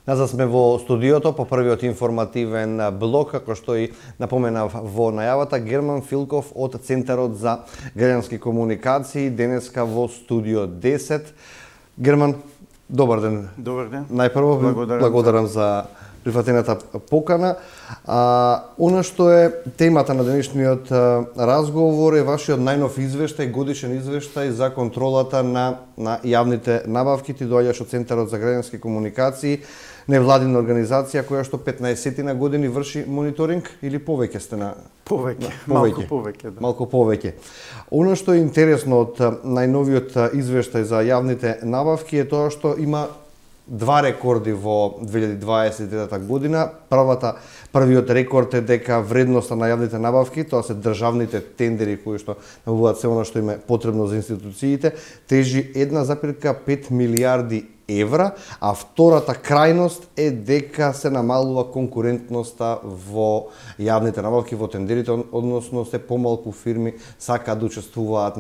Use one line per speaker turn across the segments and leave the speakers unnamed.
Назад сме во студиото по првиот информативен блок, како што и напоменав во најавата, Герман Филков од Центарот за граѓански комуникации, денеска во студио 10. Герман, добар ден.
Добар ден.
Најпрво благодарам за прифатената покана. Она што е темата на денешниот разговор е вашиот најнов извештај, годишен извештај за контролата на јавните набавки. Ти доаѓаш од Центарот за граѓански комуникации, невладина организација која што 15 години врши мониторинг или повеќе сте на
малку повеќе, да.
Малку повеќе. Она што е интересно од најновиот извештај за јавните набавки е тоа што има два рекорди во 2023 година. Првиот рекорд е дека вредноста на јавните набавки, тоа се државните тендери кои што набавуваат се она што им е потребно за институциите, тежи 1,5 милиарди евра, а втората крајност е дека се намалува конкурентноста во јавните набавки, во тендерите, односно се помалку фирми сакаат да учествуваат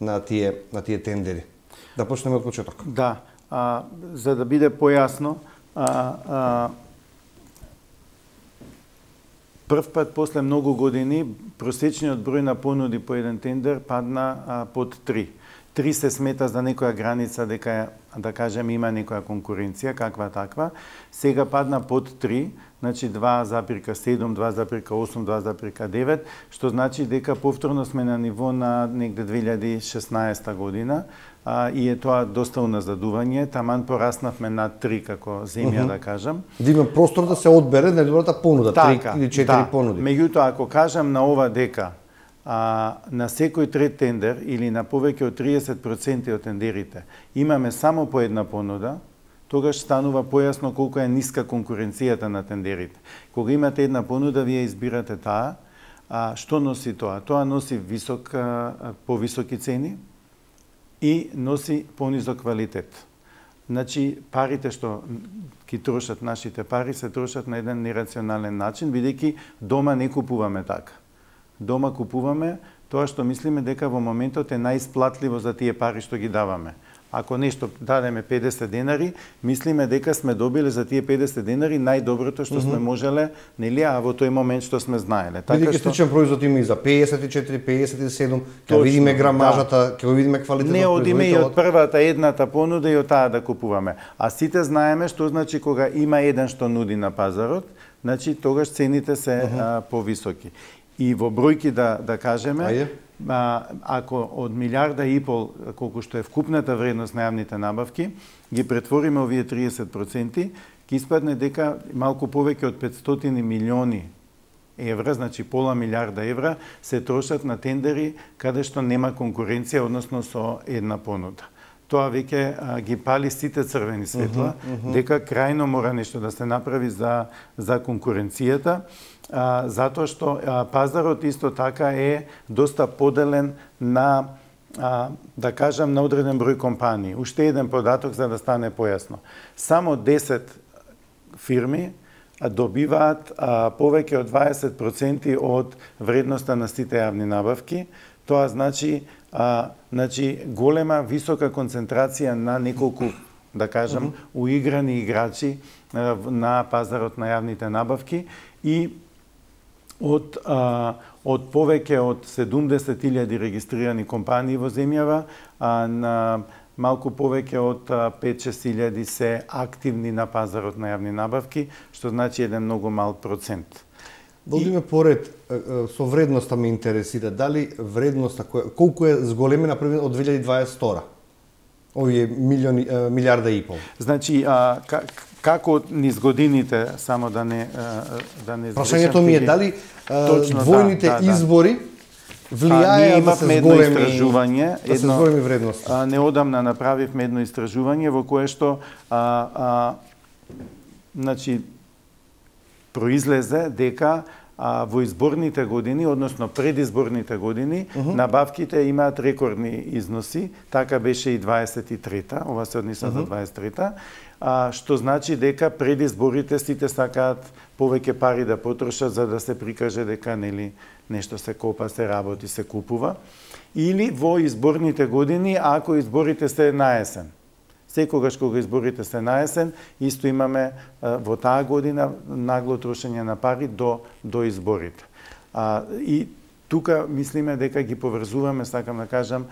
на тие тендери. Да почнеме од почеток.
Да. За да биде појасно, прв пат после многу години просечниот број на понуди по еден тендер падна под 3. 3 се смета за некоја граница дека, да кажем, има некоја конкуренција, каква таква. Сега падна под 3, значи 2,7, 2,8, 2,9, што значи дека повторно сме на ниво на негде 2016 година, и е тоа доста уназадување. Таман пораснавме над 3 како земја, да кажам.
Да има простор да се одбере најдобрата понуда, 3 или 4 понуди.
Меѓутоа, ако кажам на ова дека на секој трет тендер или на повеќе од 30% од тендерите имаме само по една понуда, тогаш станува појасно колку е ниска конкуренцијата на тендерите. Кога имате една понуда, вие избирате таа. Што носи тоа? Тоа носи повисоки цени и носи понизок квалитет. Значи, парите што ги трошат, нашите пари, се трошат на еден нерационален начин, бидејќи дома не купуваме така. Дома купуваме тоа што мислиме дека во моментот е најисплатливо за тие пари што ги даваме. Ако нешто дадеме 50 денари, мислиме дека сме добиле за тие 50 денари најдоброто што сме можеле, нели, а во тој момент што сме знаеле.
Бидејќи сличен производ има и за 54, 57, ќе видиме грамажата, ќе видиме квалитетот.
Не одиме и од првата едната понуда и од таа да купуваме. А сите знаеме што значи кога има еден што нуди на пазарот, значи тогаш цените се повисоки. И во бројки да кажеме, ако од 1,5 милиарда, колку што е вкупната вредност на јавните набавки, ги претвориме овие 30%, ќе испадне дека малку повеќе од 500 милиони евра, значи пола милиарда евра, се трошат на тендери каде што нема конкуренција, односно со една понуда. Тоа веќе ги пали сите црвени светла, дека крајно мора нешто да се направи за конкуренцијата, затоа што пазарот исто така е доста поделен на, да кажам, на одреден број компании. Уште еден податок за да стане појасно. Само 10 фирми добиваат повеќе од 20% од вредноста на сите јавни набавки. Тоа значи голема, висока концентрација на неколку, да кажам, уиграни играчи на пазарот на јавните набавки и од повеќе од 70.000 регистрирани компании во земјава, на малку повеќе од 5-6 се активни на пазарот на јавни набавки, што значи еден многу мал процент.
Да одиме поред, со вредноста ме интересира, дали вредноста, колку е зголемена од 2022? Овие 1,5 милиарда. Значи,
како низ годините, само да не
прашањето ми е дали двојните избори влијаеа да се зголеми вредност.
Неодамна направивме едно истражување во кое што значи произлезе дека во изборните години, односно предизборните години, набавките имаат рекордни износи, така беше и 23-та, ова се однесува за 23-та, што значи дека пред изборите сите сакаат повеќе пари да потрошат за да се прикаже дека нели нешто се копа, се работи, се купува. Или во изборните години, ако изборите се на есен. Секогаш кога изборите се на есен, исто имаме во таа година нагло трошење на пари до изборите. И тука мислиме дека ги поврзуваме, сакам да кажам,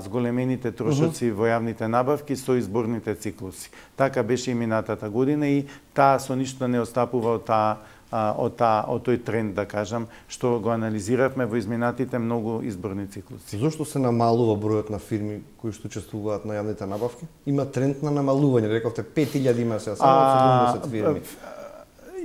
зголемените трошоци во јавните набавки со изборните циклуси. Така беше и минатата година и таа со ништо не отстапува од тој тренд, да кажам, што го анализиравме во изминатите многу изборни циклуси.
Зошто се намалува бројот на фирми кои што учествуваат на јавните набавки? Има тренд на намалување, рековте 5000 има сега, само 70 фирми.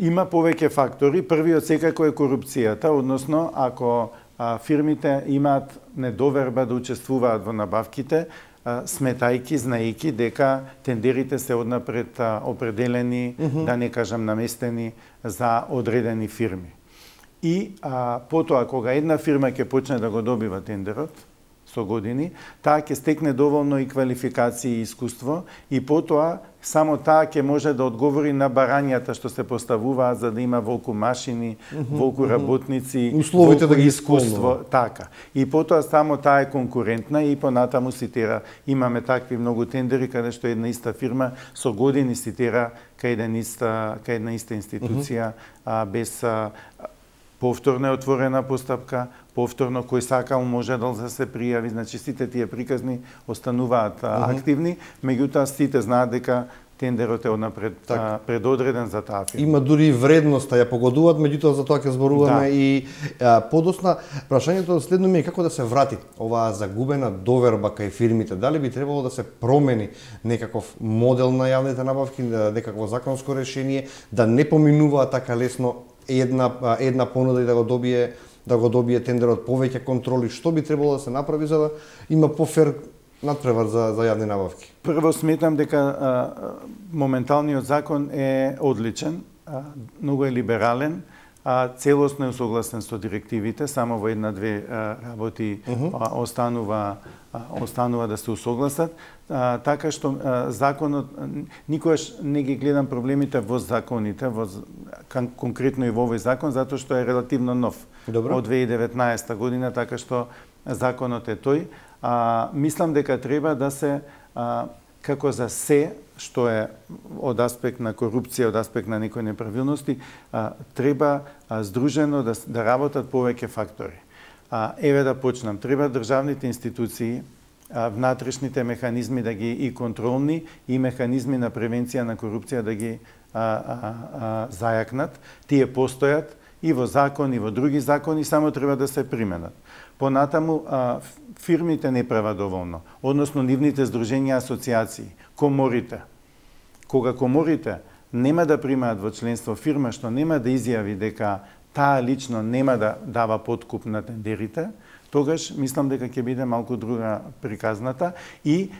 Има повеќе фактори. Првиот секако е корупцијата, односно ако фирмите имаат недоверба да учествуваат во набавките, сметајки, знаејки дека тендерите се однапред определени, да не кажам наместени за одредени фирми. И потоа, кога една фирма ќе почне да го добива тендерот, со години, таа ќе стекне доволно и квалификации и искуство и потоа само таа ќе може да одговори на барањата што се поставуваат за да има волку машини, волку работници,
условите да ги
искуство, така. И потоа само таа е конкурентна и понатаму ситера. Имаме такви многу тендери каде што една иста фирма со години ситера кај една иста институција без повторно е отворена постапка, повторно кој сакал може да се пријави, значи сите тие приказни остануваат активни, меѓутоа сите знаат дека тендерот е однапред предодреден за таа фирма.
Има дури и вредност, ја погодуваат, меѓутоа за тоа ќе зборуваме и подосна. Прашањето следно ми е како да се врати оваа загубена доверба кај фирмите. Дали би требало да се промени некаков модел на јавните набавки, некакво законско решение, да не поминуваат така лесно една понуда и да го добие тендерот, повеќе контроли, што би требало да се направи за да има пофер надпревар за јавни набавки?
Прво сметам дека моменталниот закон е одличен, многу е либерален, целосно е согласен со директивите, само во една-две работи останува да се усогласат, така што законот, никогаш не ги гледам проблемите во законите, конкретно и во овој закон, затоа што е релативно нов.
Добро.
Од 2019 година, така што законот е тој. Мислам дека треба да се, како за се, што е од аспект на корупција, од аспект на некои неправилности, треба здружено да работат повеќе фактори. Еве да почнам. Треба државните институции, внатрешните механизми да ги и контролни и механизми на превенција на корупција да ги зајакнат. Тие постојат и во закон, и во други закони, само треба да се применат. Понатаму, фирмите не прават доволно, односно нивните здруженија, асоциации, коморите. Кога коморите нема да примаат во членство фирма што нема да изјави дека таа лично нема да дава подкуп на тендерите, тогаш мислам дека ќе биде малку друга приказната и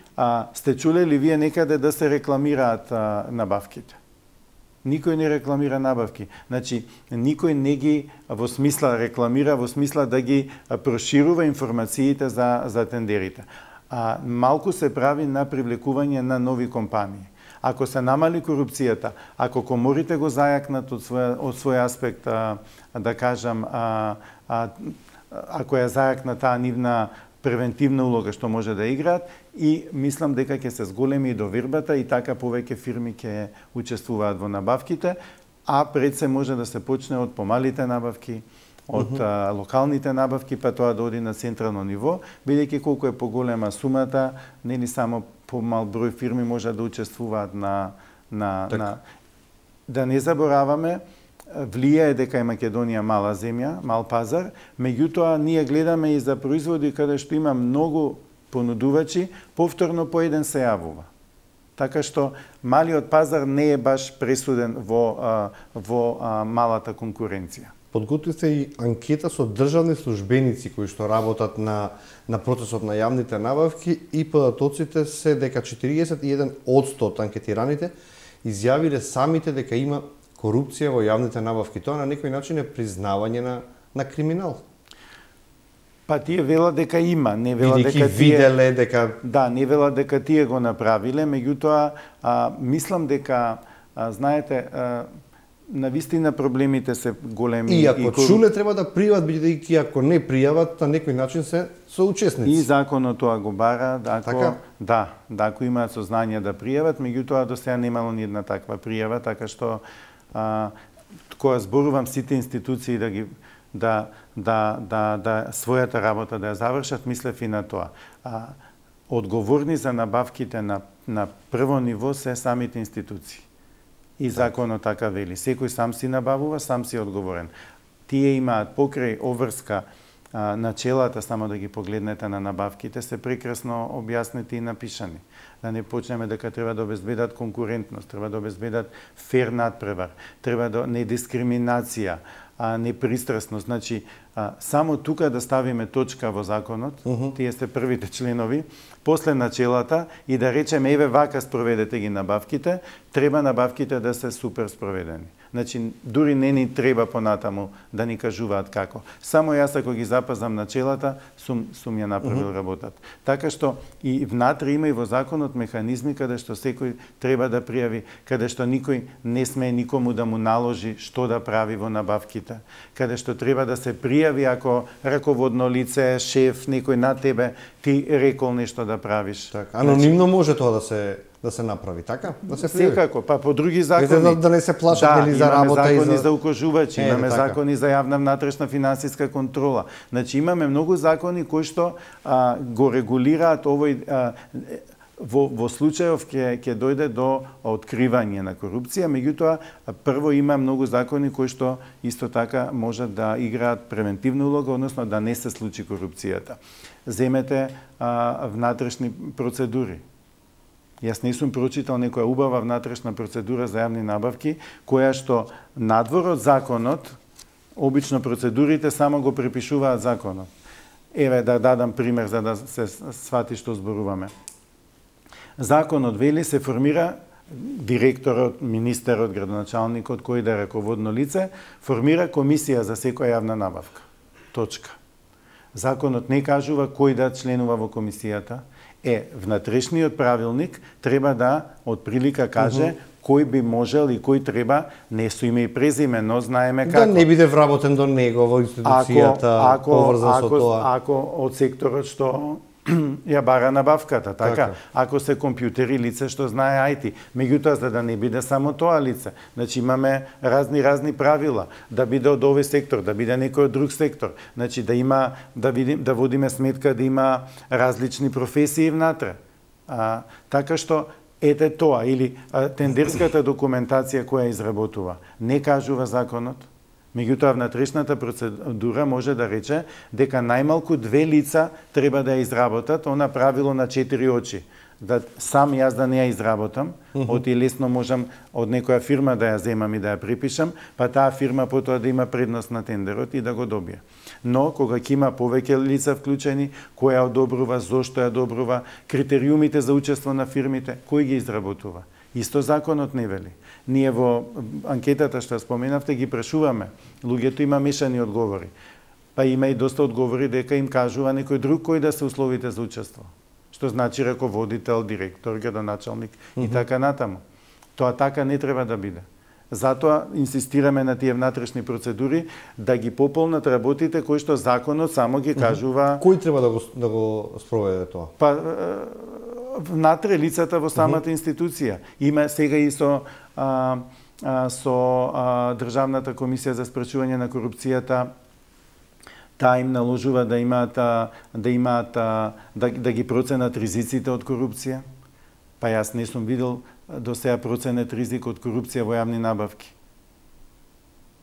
сте чулели вие некаде да се рекламираат набавките. Никој не рекламира набавки. Значи, никој не ги во смисла рекламира, во смисла да ги проширува информациите за тендерите. Малку се прави на привлекување на нови компании. Ако се намали корупцијата, ако коморите го зајакнат од свој аспект, да кажам, ако ја зајакна таа нивна превентивна улога што може да играат, и мислам дека ќе се зголеми и довербата и така повеќе фирми ќе учествуваат во набавките, а пред се може да се почне од помалите набавки, од локалните набавки, па тоа да оди на централно ниво, бидејќи колку е поголема сумата, нели само помал број фирми може да учествуваат да не забораваме, влијае дека е Македонија мала земја, мал пазар, меѓутоа ние гледаме и за производи каде што има многу понудувачи, повторно по еден се јавува. Така што малиот пазар не е баш пресуден во малата конкуренција.
Подготвите и анкета со државни службеници кои што работат на процесот на јавните набавки и податоците се дека 41% од анкетираните изјавиле самите дека има корупција во јавните набавки. Тоа на некој начин е признавање на криминал.
Па тие велат дека има, не велат дека
виделе дека
да, не велат дека тие го направиле, меѓутоа мислам дека знаете навистина проблемите се големи.
И ако чуле треба да пријават, бидејќи ако не пријават, на некој начин се соучесници.
И законот тоа го бара,
така?
Да, ако имаат сознание да пријават, меѓутоа до сега немало ни една таква пријава, така што кога зборувам сите институции да својата работа да ја завршат, мислев и на тоа. Одговорни за набавките на прво ниво се самите институции. И законот така вели. Секој сам си набавува, сам си одговорен. Тие имаат покрај обврска начелата, само да ги погледнете на набавките, се прекрасно објаснети и напишани. Да не почнеме дека треба да обезбедат конкурентност, треба да обезбедат фер надпревар, треба да недискриминација, непристрасност. Значи, само тука да ставиме точка во законот, тие се првите членови, после начелата и да речеме, еве вака спроведете ги набавките, треба набавките да се супер спроведени. Значи, дури не ни треба понатаму да ни кажуваат како. Само јас ако ги запазам начелата, сум ја направил работата. Така што и внатре има и во законот механизми каде што секој треба да пријави, каде што никој не смее никому да му наложи што да прави во набавките, каде што треба да се пријави ако раководно лице, шеф, некој на тебе ти рекол нешто да правиш.
Така, анонимно може тоа да се направи, така? Да се пријави.
Секако, па по други закони.
Да не се плашат нели за работа и за...
Имаме закони за укажувачи, имаме закони за јавна внатрешна финансиска контрола. Значи имаме многу закони кои што го регулираат овој во случајов ќе дојде до откривање на корупција, меѓутоа прво има многу закони кои што исто така можат да играат превентивна улога, односно да не се случи корупцијата. Земете внатрешни процедури. Јас не сум прочитал некоја убава внатрешна процедура за јавни набавки, која што надвор од законот, обично процедурите само го препишуваат законот. Еве да дадам пример за да се свати што зборуваме. Законот вели се формира директорот, министерот, градоначалникот, кој да е раководно лице, формира комисија за секоја јавна набавка. Точка. Законот не кажува кој да членува во комисијата. Внатрешниот правилник треба да отприлика каже кој би можел и кој треба, не со име и презиме, но знаеме како.
Да не биде вработен до него во институцијата, поврзан со тоа.
Ако од секторот што ја бара набавката, така? Ако се компјутери лице што знае IT, меѓутоа за да не биде само тоа лице. Значи имаме разни правила, да биде од овој сектор, да биде некој од друг сектор. Значи да има да водиме сметка да има различни професии внатре. Така што ете тоа или тендерската документација која изработува не кажува законот. Меѓутоа, внатрешната процедура може да рече дека најмалку 2 лица треба да ја изработат, она правило на 4 очи. Да сам јас да не ја изработам, оти лесно можам од некоја фирма да ја земам и да ја припишам, па таа фирма потоа да има предност на тендерот и да го добие. Но, кога ќе има повеќе лица вклучени, кој ја одобрува, зошто ја одобрува, критериумите за учество на фирмите, кој ги изработува? Исто законот не вели. Ние во анкетата што споменавте ги прашуваме. Луѓето има мешани одговори. Па има и доста одговори дека им кажува некој друг кој да се условите за учество. Што значи раководител, директор, градоначалник и така натаму. Тоа така не треба да биде. Затоа инсистираме на тие внатрешни процедури да ги пополнат работите кои што законот само ги кажува.
Кој треба да го спроведе тоа?
Па внатре лицата во самата институција. Има сега и со Државната комисија за спречување на корупцијата, таа им наложува да ги проценат ризиците од корупција. Па јас не сум видел до сега проценет ризик од корупција во јавни набавки.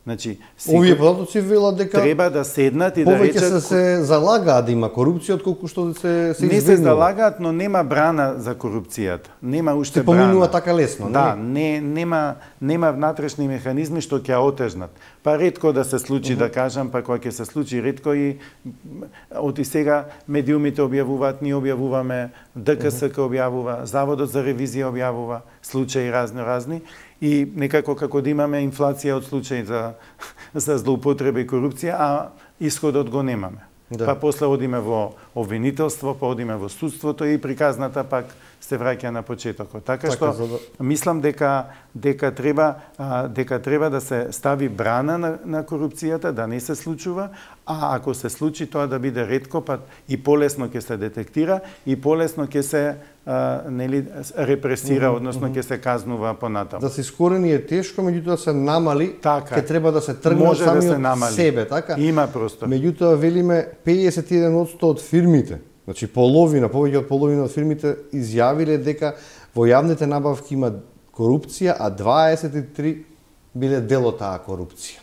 Значи,
овие податоци велат дека
треба да седнат и да речат
повеќе се залагаат да има корупција отколку што се
избегнува. Не се залагаат, но нема брана за корупцијата. Нема уште брана.
Се поминува така лесно,
да, нема внатрешни механизми што ќе отежнат. Па ретко да се случи, да кажам, па кога ќе се случи ретко и оти сега медиумите објавуваат, ние објавуваме, ДКСК објавува, Заводот за ревизија објавува случаи разни. И некако како да имаме инфлација од случаи за злоупотреба и корупција, а исходот го немаме.
Да.
Па после одиме во обвинителство, па одиме во судството и приказната пак се враќа на почетокот. Така што мислам дека треба да се стави брана на корупцијата, да не се случува, а ако се случи тоа да биде ретко, па и полесно ќе се детектира и полесно ќе се репресира, односно ќе се казнува понатаму.
Да се искорени е тешко, меѓутоа се намали,
така,
ќе треба да се тргне од самиот себе, така?
Има простор.
Меѓутоа велиме 51% од фирмите, значи половина, повеќе од половина од фирмите изјавиле дека во јавните набавки има корупција, а 23 биле дел од таа корупција.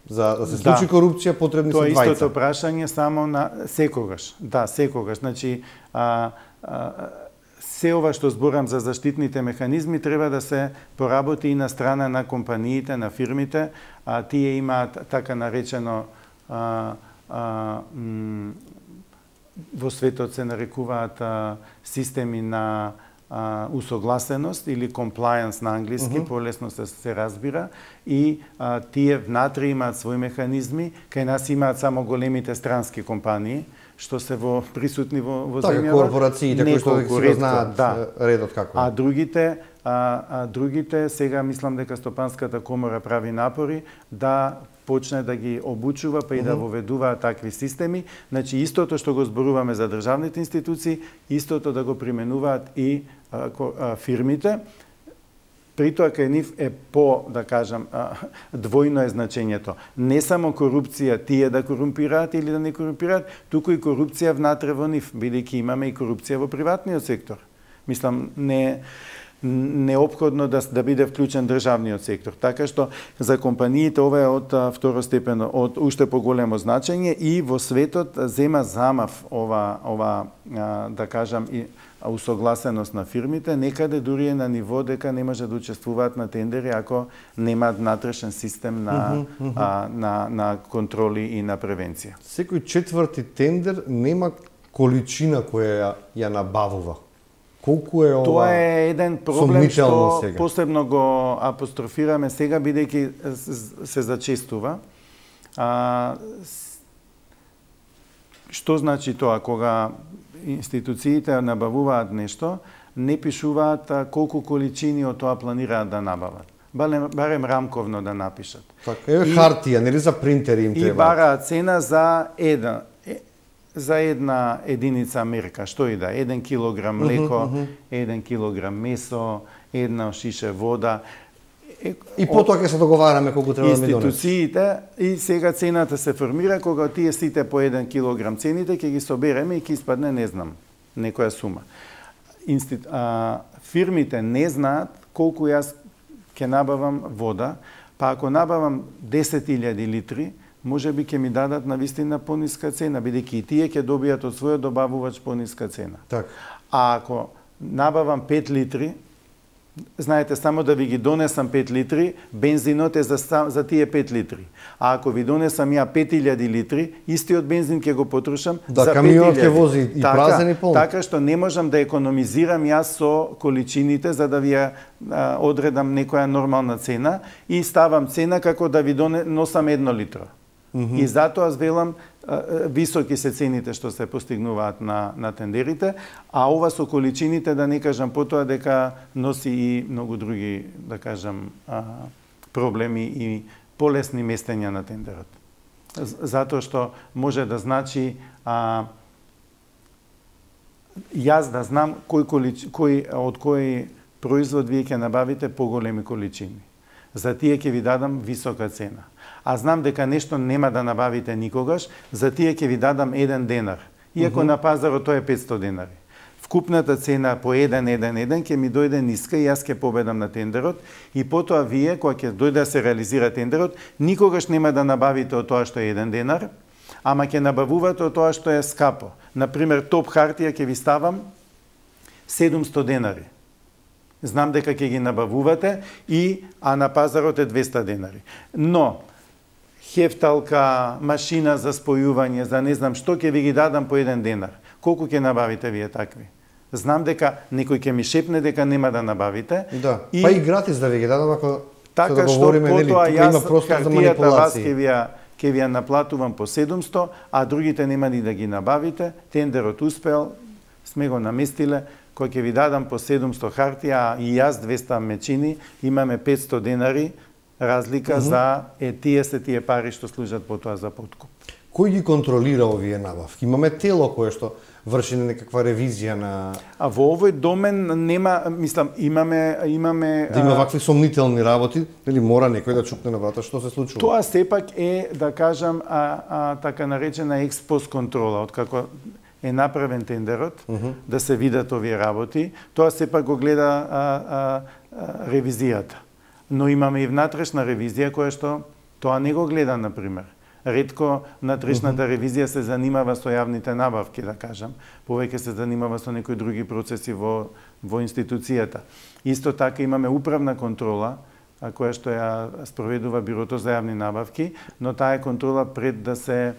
За да се случи корупција потребни се двајца.
Тоа истото прашање само на секогаш. Да, секогаш. Значи се ова што зборам за заштитните механизми треба да се поработи и на страна на компаниите, на фирмите. Тие имаат така наречено во светот се нарекуваат системи на усогласеност или compliance на англиски, полесно се разбира, и тие внатре имаат своји механизми, кај нас имаат само големите странски компании, што се присутни во земјава.
Така, корпорациите кои што си знаат редот како.
А другите сега мислам дека Стопанската комора прави напори да почне да ги обучува, па и да воведуваат такви системи. Значи, истото што го зборуваме за државните институции, истото да го применуваат и фирмите. При тоа кај нив е да кажам, двојно е значењето. Не само корупција тие да корумпираат или да не корумпираат, туку и корупција внатре во нив, бидејќи имаме и корупција во приватниот сектор. Мислам, неопходно да биде вклучен државниот сектор. Така што за компаниите ова е од второстепено, од уште поголемо значење и во светот зема замав ова да кажам и усогласеност на фирмите, некаде дури е на ниво дека не може да учествуваат на тендери ако немаат внатрешен систем на контроли и на превенција.
Секој четврти тендер нема количина која ја набавува. Колку е ова?
Тоа е еден проблем што
сега
посебно го апострофираме сега, бидејќи се зачестува. Што значи тоа? Кога институциите набавуваат нешто, не пишуваат колку количини од тоа планираат да набават. Барем рамковно да напишат.
Така, хартија, нели за принтери им треба.
И бараат цена за една единица мерка, што и да, 1 килограм млеко, 1 килограм месо, една шише вода.
И потоа ќе се договараме колку треба да ми донесе.
Институциите и сега цената се формира кога тие сите по 1 килограм цените ќе ги собереме и ќе испадне, не знам, некоја сума. Фирмите не знаат колку јас ќе набавам вода, па ако набавам 10.000 литри, може би ќе ми дадат на вистина пониска цена, бидејќи и тие ќе добијат од својот добавувач пониска цена.
Так.
А ако набавам 5 литри, знаете, само да ви ги донесам 5 литри, бензинот е за тие 5 литри. А ако ви донесам ја 5000 литри, истиот бензин ќе го потрошам за 5000.
Да, камионот ќе вози и празен и полн.
Така што не можам да економизирам јас со количините за да ви одредам некоја нормална цена и ставам цена како да ви носам 1 литро. И затоа аз велам високи се цените што се постигнуваат на тендерите, а ова со количините, да не кажам потоа дека носи и многу други, да кажам, проблеми и полесни местења на тендерот. Затоа што може да значи јас да знам од кој производ вие ќе набавите поголеми количини. За тие ќе ви дадам висока цена. А знам дека нешто нема да набавите никогаш, за тие ќе ви дадам 1 денар. Иако на пазарот тоа е 500 денари. Вкупната цена по 1,1,1 ќе ми дојде ниска и јас ќе победам на тендерот и потоа вие, кога ќе дојде да се реализира тендерот, никогаш нема да набавите од тоа што е 1 денар, ама ќе набавувате од тоа што е скапо. Например, топ хартија ќе ви ставам 700 денари. Знам дека ќе ги набавувате а на пазарот е 200 денари. Но хефталка, машина за спојување, за не знам што, ќе ви ги дадам по 1 денар. Колку ќе набавите вие такви? Знам дека некој ќе ми шепне дека нема да набавите.
Да, па и гратис да ви ги дадам ако
така
се договориме, нели, тука има простор за манипулации.
Така што ќе ви ја наплатувам по 700, а другите нема ни да ги набавите, тендерот успел, сме го наместиле, кој ќе ви дадам по 700 хартија, и јас 200 мечини, имаме 500 денари разлика за тие се тие пари што служат потоа за подкуп.
Кој ги контролира овие набавки? Имаме тело кое што врши некаква ревизија на...
А во овој домен нема, мислам, имаме...
Да има вакви сомнителни работи, или мора некој да чукне на врата, што се случува?
Тоа сепак е, да кажам, така наречена експост контрола, откако е направен тендерот, да се видат овие работи, тоа сепак го гледа ревизијата. Но имаме и внатрешна ревизија, која што тоа не го гледа, например. Ретко внатрешната ревизија се занимава со јавните набавки, да кажам. Повеќе се занимава со некои други процеси во институцијата. Исто така имаме управна контрола, која што ја спроведува Бирото за јавни набавки, но таа е контрола пред да се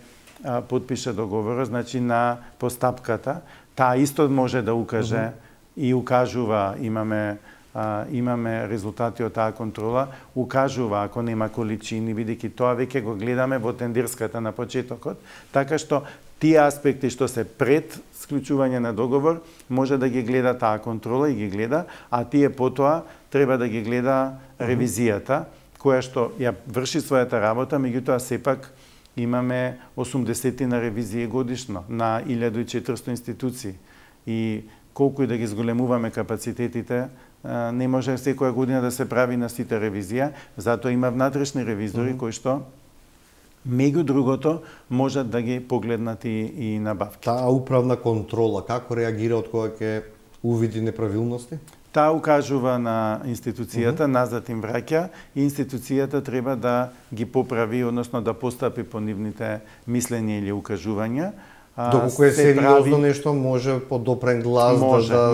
подпише договорот, значи на постапката. Таа исто може да укаже и укажува, имаме резултати од таа контрола, укажува ако нема количини, бидејќи тоа веќе го гледаме во тендерската на почетокот, така што тие аспекти што се пред склучување на договор може да ги гледа таа контрола и ги гледа, а тие потоа треба да ги гледа ревизијата, која што ја врши својата работа, меѓутоа сепак имаме 80 на ревизии годишно на 1400 институции и колку и да ги зголемуваме капацитетите, не може секоја година да се прави на сите ревизија, затоа има внатрешни ревизори кои што меѓу другото можат да ги погледнат и набавки.
Таа управна контрола како реагира од кога ќе увиди неправилности?
Таа укажува на институцијата, назад им враќа и институцијата треба да ги поправи, односно да постапи по нивните мислења или укажувања.
Доколку е сериозно нешто, може подопрен глас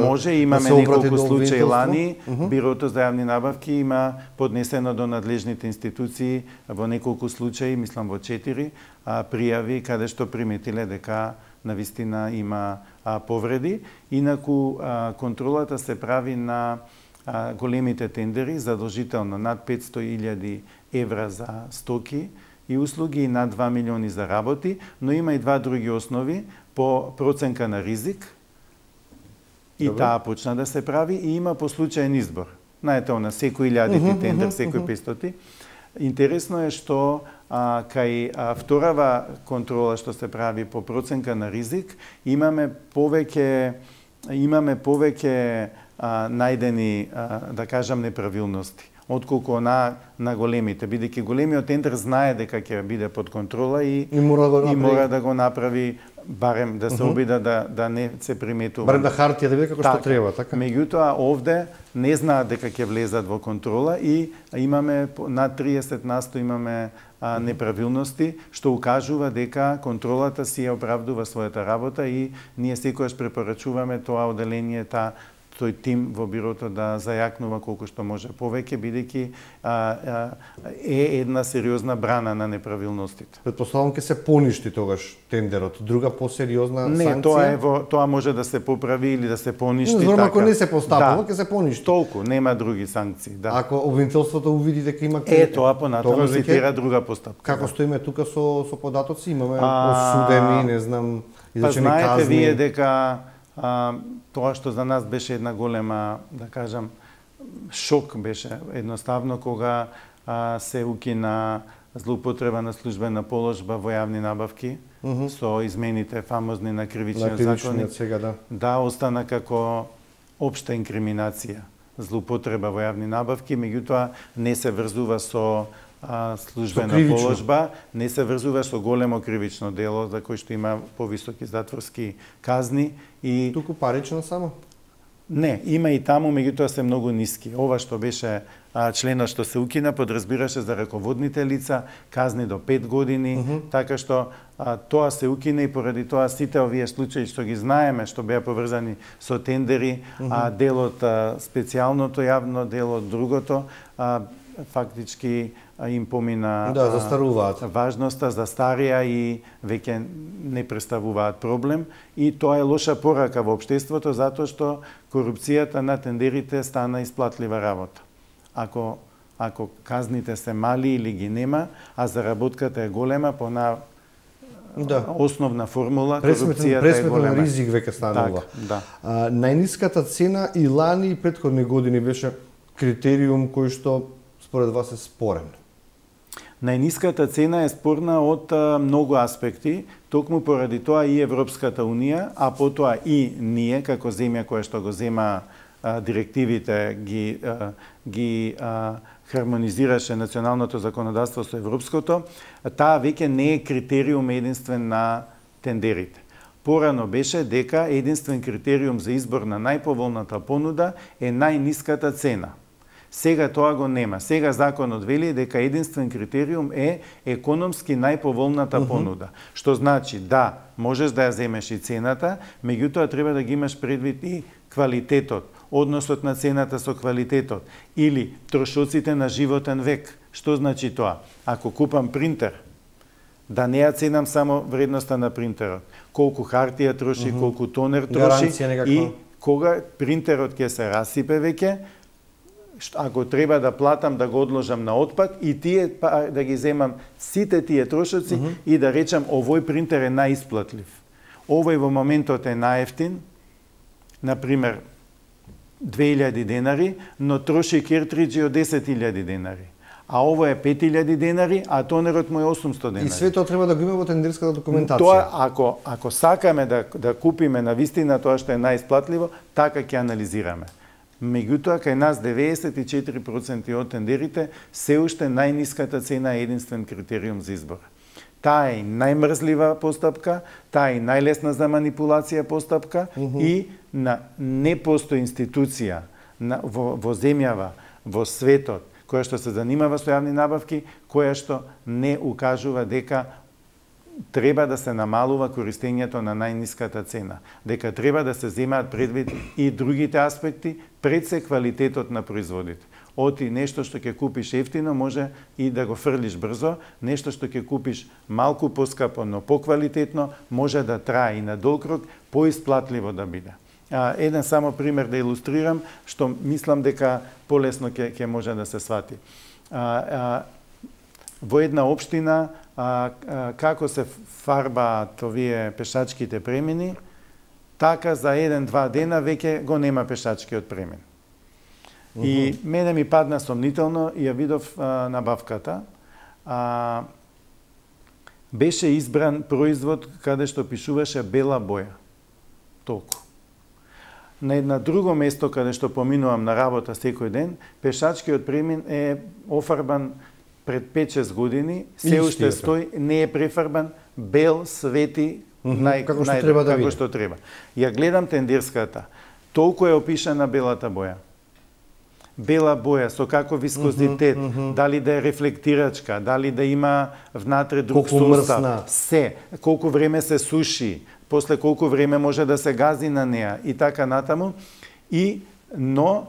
може, имаме неколку случаи лани, Бирото за јавни набавки има поднесено до надлежните институции во неколку случаи, мислам во 4, пријави каде што приметиле дека навистина има повреди. Инаку контролата се прави на големите тендери, задолжително над 500.000 евра за стоки и услуги и над 2 милиони за работи, но има и два други основи по проценка на ризик и таа почна да се прави и има по случаен избор. Знаете, на секој 1000 тендер, секој 500. Интересно е што кај вторава контрола што се прави по проценка на ризик, имаме повеќе најдени, да кажам, неправилности отколку на големите, бидејќи големиот тендер знае дека ќе биде под контрола и мора да го направи, барем да се обида да не се приметува.
Барем да хартија да биде како што треба, така?
Меѓутоа, овде не знаат дека ќе влезат во контрола и имаме над 30% имаме неправилности, што укажува дека контролата си ја оправдува својата работа и ние секогаш препорачуваме тоа одделение, тој тим во бирото да зајакнува колку што може повеќе, бидејќи е една сериозна брана на неправилностите.
Претпоставам ќе се поништи тогаш тендерот, друга посериозна
санкција? Не, тоа може да се поправи или да се поништи.
Зборам, ако не се постапува, ќе се поништи.
Толку, нема други санкции. Да.
Ако обвинителството увиди дека има
тоа понатаму се тера друга постапка.
Како стоиме тука со податоци, имаме осудени, не знам, изречени казни.
Знаете вие дека тоа што за нас беше една голема, да кажам, шок беше едноставно кога се укина злоупотреба на службена положба во јавни набавки со измените фамозни на кривичниот законник.
Сега,
да, остана како општа инкриминација злоупотреба во јавни набавки, меѓутоа не се врзува со службена положба, не се врзува со големо кривично дело за кој што има повисоки затворски казни и
туку парично само?
Не, има и таму, меѓутоа се многу ниски. Ова што беше членот што се укина подразбираше за раководните лица, казни до 5 години, така што тоа се укина и поради тоа сите овие случаи што ги знаеме, што беа поврзани со тендери, делот специјалното јавно дело, другото, фактички им помина
застаруваат.
Важноста, застарија и веќе не представуваат проблем. И тоа е лоша порака во општеството, затоа што корупцијата на тендерите стана исплатлива работа. Ако ако казните се мали или ги нема, а заработката е голема, по основна формула, корупцијата е голема.
Ризик веќе станува.
Да.
Најниската цена и лани и претходни години беше критериум кој што според вас е спорен?
Најниската цена е спорна од многу аспекти, токму поради тоа и Европската Унија, а потоа и ние, како земја која што го зема директивите, ги хармонизираше националното законодавство со европското, таа веќе не е критериум единствен на тендерите. Порано беше дека единствен критериум за избор на најповолната понуда е најниската цена. Сега тоа го нема. Сега законот вели дека единствен критериум е економски најповолната понуда. Што значи да, можеш да ја земеш и цената, меѓутоа треба да ги имаш предвид и квалитетот, односот на цената со квалитетот или трошоците на животен век. Што значи тоа? Ако купам принтер, да не ја ценам само вредноста на принтерот, колку хартија троши, колку тонер троши и кога принтерот ќе се расипе веќе, ако треба да платам да го одложам на отпад и тие да ги земам сите тие трошоци и да речам овој принтер е најисплатлив. Овој во моментот е најефтин, например 2000 денари, но троши кертриџи од 10.000 денари. А ово е 5.000 денари, а тонерот му е 800 денари.
И све тоа треба да го има во тендерската документација.
Тоа, ако сакаме да купиме на вистина тоа што е најисплатливо, така ќе анализираме. Меѓутоа, кај нас 94% од тендерите се уште најниската цена е единствен критериум за избор. Таа е најмрзлива постапка, таа е најлесна за манипулација постапка и не постои институција во земјава, во светот, која што се занимава со јавни набавки, која што не укажува дека треба да се намалува користењето на најниската цена, дека треба да се земаат предвид и другите аспекти, пред се квалитетот на производите. Оти нешто што ќе купиш ефтино може и да го фрлиш брзо, нешто што ќе купиш малку поскапо, но поквалитетно, може да трае и на долг рок, поисплатливо да биде. Еден само пример да илустрирам, што мислам дека полесно ќе може да се свати. Во една општина, како се фарбаат овие пешачките премини, така за 1-2 дена веќе го нема пешачкиот премин. И мене ми падна сомнително и ја видов набавката. Беше избран производ каде што пишуваше бела боја. Толку. На една друго место каде што поминувам на работа секој ден, пешачкиот премин е офарбан пред 5-6 години, се уште стои, не е префарбан, бел, свети, како што треба. Ја гледам тендерската. Толку е опишана белата боја. Бела боја, со каков вискозитет, дали да е рефлектирачка, дали да има внатре друг состав, се, колку време се суши, после колку време може да се гази на неа и така натаму. Но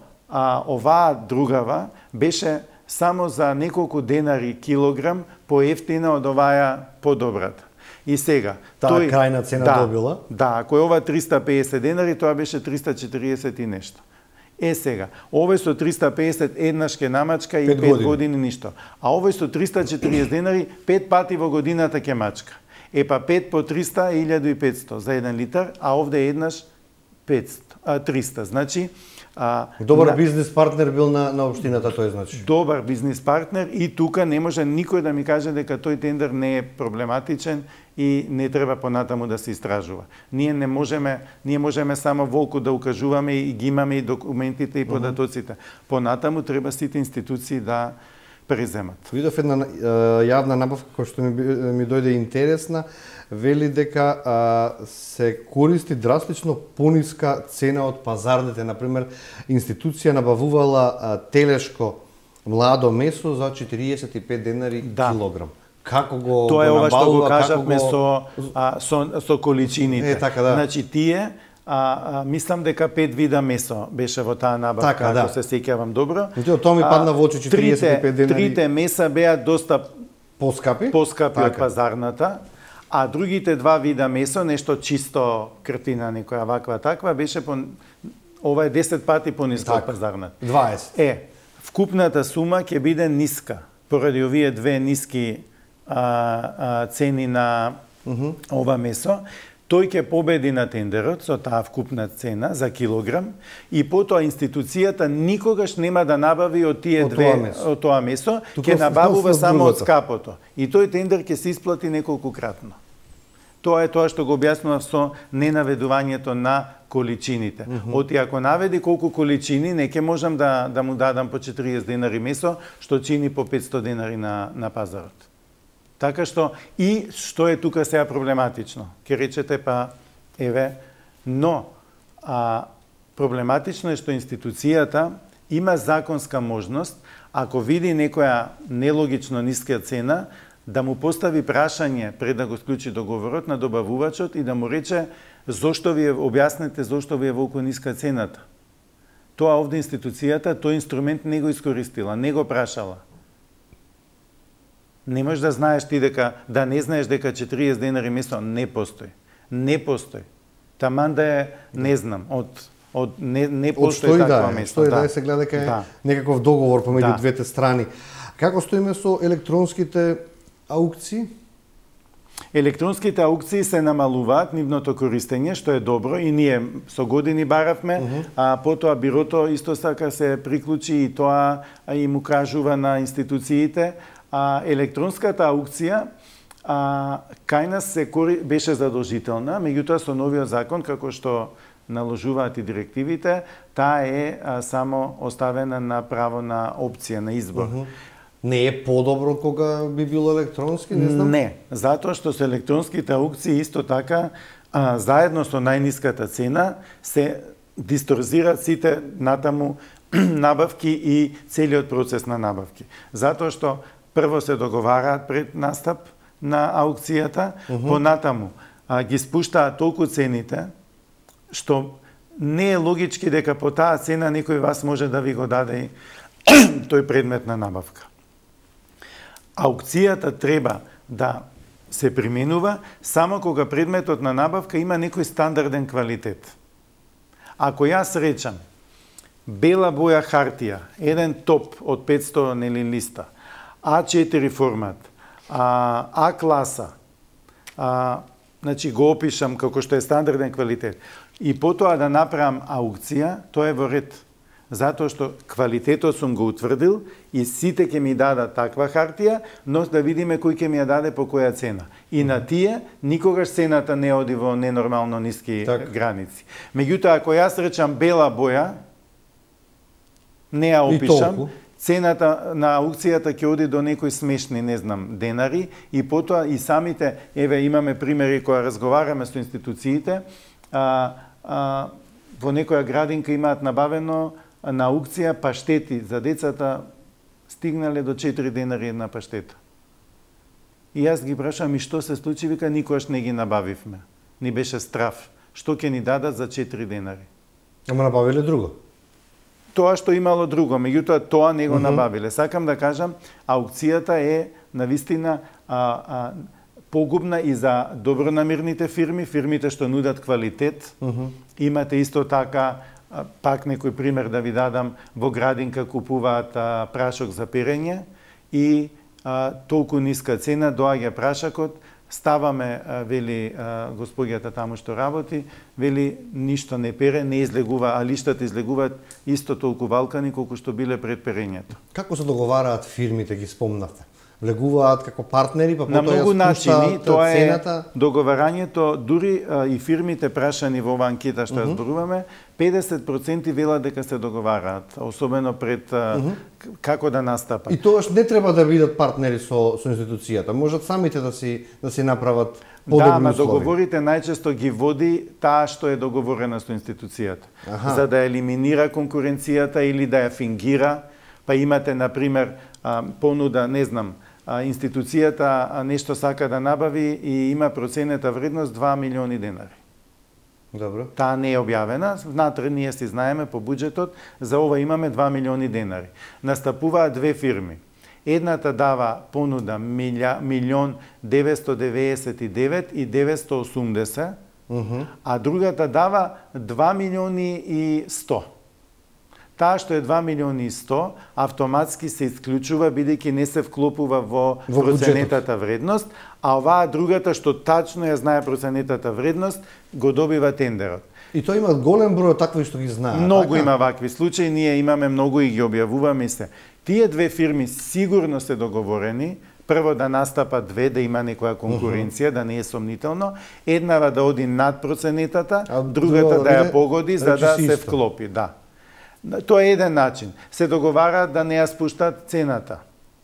оваа другава беше само за неколку денари килограм поевтина од оваа подобрата. И сега,
таа крајна цена добила?
Да, ако е ова 350 денари, тоа беше 340 и нешто. Сега, овој со 350 еднаш ке намачка и 5 години ништо. А овој со 340 денари 5 пати во годината ке мачка. Па 5 по 300 е 1500 за 1 литар, а овде еднаш 300. Значи,
добар бизнис партнер бил на општината тој, значи.
Добар бизнис партнер и тука не може никој да ми каже дека тој тендер не е проблематичен и не треба понатаму да се истражува. Ние можеме само волку да укажуваме и ги имаме и документите и податоците. Понатаму треба сите институции да преземат.
Видов една јавна набавка која што ми дојде интересна, вели дека се користи драстично пониска цена од пазарните. Например, институција набавувала телешко младо месо за 45 денари килограм. Како го
тоа е ова што го
набавува,
кажавме со количините.
Така, да.
Значи тие мислам дека 5 вида месо беше во таа набавка,
така, да.
Ако се сеќавам добро.
Тоа ми падна во очи 45 денари.
Трите меса беа доста
поскапи
од пазарната, а другите два вида месо, нешто чисто кртина, некоја ваква таква, беше ова е 10 пати пониско од пазарната.
20.
вкупната сума ќе биде ниска поради овие две ниски цени на ова месо. Тој ќе победи на тендерот со таа вкупна цена за килограм и потоа институцијата никогаш нема да набави од тие од тоа месо, ќе набавува само од скапото. И тој тендер ќе се исплати неколкукратно. Тоа е тоа што го објаснував со ненаведувањето на количините. Оти ако наведи колку количини, не ќе можам да му дадам по 40 денари месо, што чини по 500 денари на пазарот. Така што, и што е тука сега проблематично? Ке речете, па, еве, но проблематично е што институцијата има законска можност, ако види некоја нелогично ниска цена, да му постави прашање пред да го склучи договорот на добавувачот и да му рече зошто ви објаснете зошто ви е волку ниска цената. Тоа овде институцијата, тој инструмент не го искористила, не го прашала. Не можеш да знаеш ти дека, да не знаеш дека 40 денари месо не постои. Не постои. Таман да е, не знам, не постои таква месо.
Стои да се гледа дека е некаков договор помеѓу двете страни. Како стоиме со електронските аукции?
Електронските аукции се намалуваат нивното користење, што е добро и ние со години баравме, а потоа бирото исто така се приклучи и тоа им укажува на институциите. Електронската аукција кај нас беше задолжителна, меѓутоа со новиот закон, како што наложуваат и директивите, таа е само оставена на право на опција, на избор.
Не е подобро кога би било електронски, не знам?
Не, затоа што со електронските аукции исто така, заедно со најниската цена, се дисторзираат сите натаму набавки и целиот процес на набавки. Затоа што прво се договараат пред настап на аукцијата, понатаму ги спуштаат толку цените, што не е логички дека по таа цена некој вас може да ви го даде тој предмет на набавка. Аукцијата треба да се применува само кога предметот на набавка има некој стандарден квалитет. Ако јас речам бела боја хартија, еден топ од 500 листа, А4 формат, А класа, значи го опишам како што е стандарден квалитет, и потоа да направам аукција, тоа е во ред. Затоа што квалитетот сум го утврдил и сите ќе ми дадат таква хартија, но да видиме кој ќе ми ја даде по која цена. И на тие никогаш цената не оди во ненормално ниски граници. Меѓутоа, ако јас речам бела боја, не ја опишам, цената на аукцијата ќе оди до некои смешни, не знам, денари, и потоа и самите, еве имаме примери кога разговараме со институциите, во некоја градинка имаат набавено на аукција паштети за децата, стигнале до 4 денари една паштета. И јас ги прашам, и што се случи? Вика, никогаш не ги набавивме. Ни беше страв. Што ќе ни дадат за 4 денари?
Ама набавиле друго?
Тоа што имало друго, меѓутоа тоа не го набавиле. Сакам да кажам, аукцијата е навистина погубна и за добронамерните фирми, фирмите што нудат квалитет. Имате исто така, пак некој пример да ви дадам, во градинка купуваат прашок за перење и толку ниска цена, доаѓа прашакот, ставаме, вели господјата таму што работи, вели ништо не пере, не излегува, а лиштата излегуваат исто толку валкани колку што биле пред перењето.
Како се договараат фирмите, ги спомнавте? Влегуваат како партнери, па
на многу начини, тоа е
цената?
Договарањето, дури и фирмите прашани во оваа анкета што ја зборуваме, 50% велат дека се договараат, особено пред како да настапат.
И тоаш не треба да бидат партнери со институцијата, можат самите да си направат подобни услови.
Да, договорите најчесто ги води таа што е договорена со институцијата, за да елиминира конкуренцијата или да ја фингира. Па имате, например, понуда, не знам, институцијата нешто сака да набави и има проценета вредност 2 милиони денари.
Добро.
Таа не е објавена, внатре ние си знаеме по буџетот, за ова имаме 2 милиони денари. Настапуваат две фирми. Едната дава понуда 1.999.980, а другата дава 2.100.000. таа што е 2 милиони и 100 автоматски се исклучува бидејќи не се вклопува во проценетата вредност, а оваа другата што тачно ја знае проценетата вредност го добива тендерот.
И тоа има голем број такви што ги знаат.
Многу така? Има вакви случаи, ние имаме многу и ги објавуваме се. Тие две фирми сигурно се договорени, прво да настапат две, да има некоја конкуренција, да не е сомнително, еднава да оди над проценетата, другата да ја погоди за да се вклопи, да. Тоа е еден начин. Се договараат да не ја спуштат цената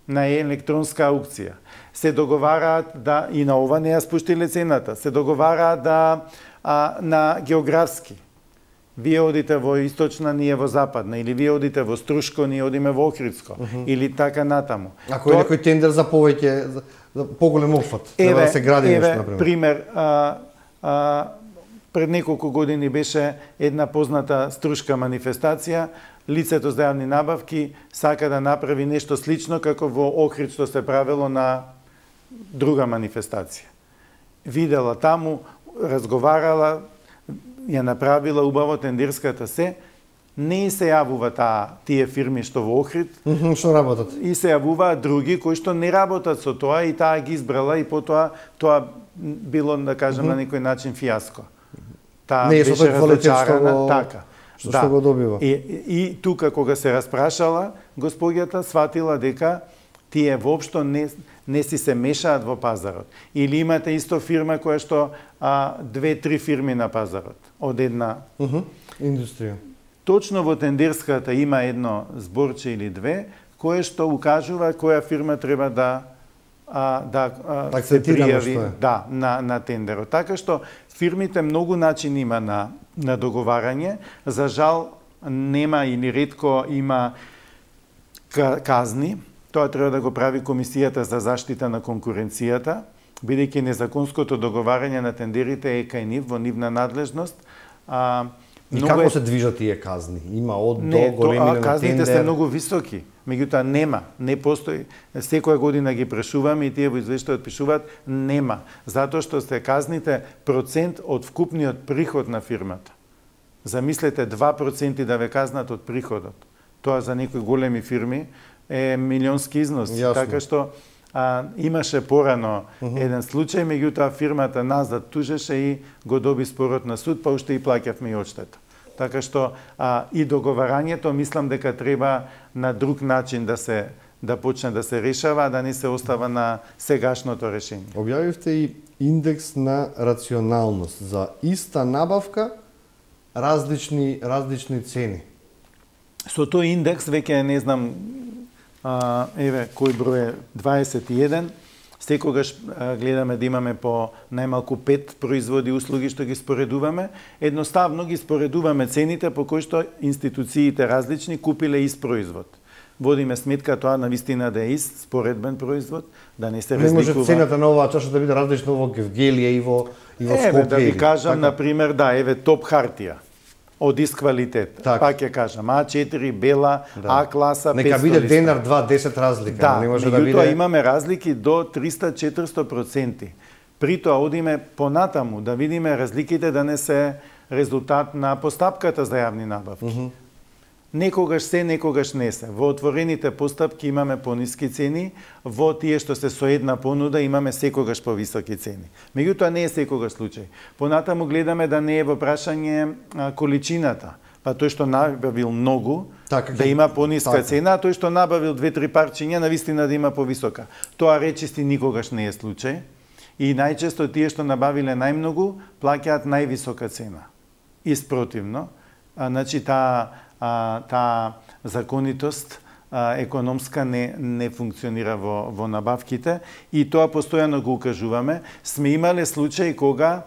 на електронска аукција. Се договараат да и на ова не ја спуштиле цената. Се договараат да на географски. Вие одите во источна, ние во западна, или вие одите во Струшко, ние одиме во Охридско, или така натаму.
Ако е некој тендер за повеќе, за поголем опфат, треба да се гради нешто, например.
Пример, пред неколку години беше една позната струшка манифестација, лицето за јавни набавки сака да направи нешто слично како во Охрид што се правело на друга манифестација. Видела таму, разговарала, ја направила убаво тендерската се, не се јавува тие фирми што во Охрид,
што работат.
И се јавуваат други кои што не работат со тоа и таа ги избрала и потоа тоа било, да кажем, на некој начин фијаско. Таа
не
беше разочарана, така.
Што го добива.
И тука кога се распрашала, господјата сватила дека тие воопшто не си се мешаат во пазарот. Или имате исто фирма која што 2-3 фирми на пазарот од една
индустрија.
Точно во тендерската има едно зборче или две кое што укажува која фирма треба да се пријави на тендерот. Така што фирмите многу начини има на договарање. За жал нема или ретко има казни. Тоа треба да го прави Комисијата за заштита на конкуренцијата, бидејќи незаконското договарање на тендерите е кај нив, во нивна надлежност.
И како се движат тие казни? Има од до големина на тендер?
Казните се многу високи, меѓутоа не постои. Секоја година ги прешуваме и тие во извештајот пишуваат нема, затоа што се казните процент од вкупниот приход на фирмата. Замислете 2% да ве казнат од приходот. Тоа за некои големи фирми е милионски износ.
Јасно.
Така што имаше порано еден случај, меѓутоа фирмата назад тужеше и го доби спорот на суд, па уште и плаќавме и одштета. Така што и договарањето мислам дека треба на друг начин да почне да се решава, да не се остава на сегашното решение.
Објавивте и индекс на рационалност за иста набавка, различни цени.
Со тој индекс веќе не знам еве кој број е 21. Секогаш гледаме да имаме по најмалку 5 производи и услуги што ги споредуваме. Едноставно ги споредуваме цените по кои што институциите различни купиле ист производ. Водиме сметка тоа навистина да е ист споредбен производ, да не се разликува.
Не може цената на оваа чаша да биде различна во Гевгелија и во Скопје.
Еве да ви кажам, например, еве топ хартија од ист квалитет. Пак ќе кажам, А4, бела, А класа, 500
листа. Нека биде денар 2-10 разлика, не може да биде.
Да, имаме разлики до 300-400%. При тоа одиме понатаму да видиме разликите да не се резултат на постапката за јавни набавки. Некогаш се, некогаш не се. Во отворените постапки имаме пониски цени, во тие што се со една понуда имаме секогаш повисоки цени. Меѓутоа не е секогаш случај. Понатаму гледаме да не е во прашање количината. Па тој што набавил многу, да има пониска цена, а тој што набавил 2-3 парчиња, навистина да има повисока. Тоа речисти никогаш не е случај. И најчесто тие што набавиле најмногу, плаќаат највисока цена. И спротивно, значи таа законитост економска не функционира во набавките и тоа постојано го укажуваме. Сме имале случаи кога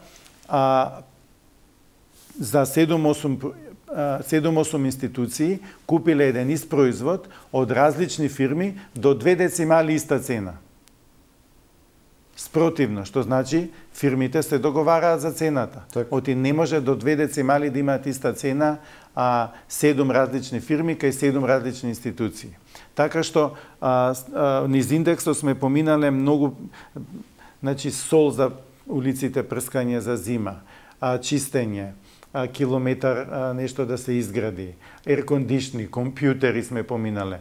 за 7-8 институции купиле еден ист производ од различни фирми до 2 децимали иста цена. Спротивно, што значи фирмите се договараат за цената. Оти не може до 2 децимали да имаат иста цена 7 различни фирми кај 7 различни институции. Така што низ индексот сме поминале многу, значи сол за улиците, прскање за зима, чистење, километар нешто да се изгради. Еркондишни, компјутери сме поминале.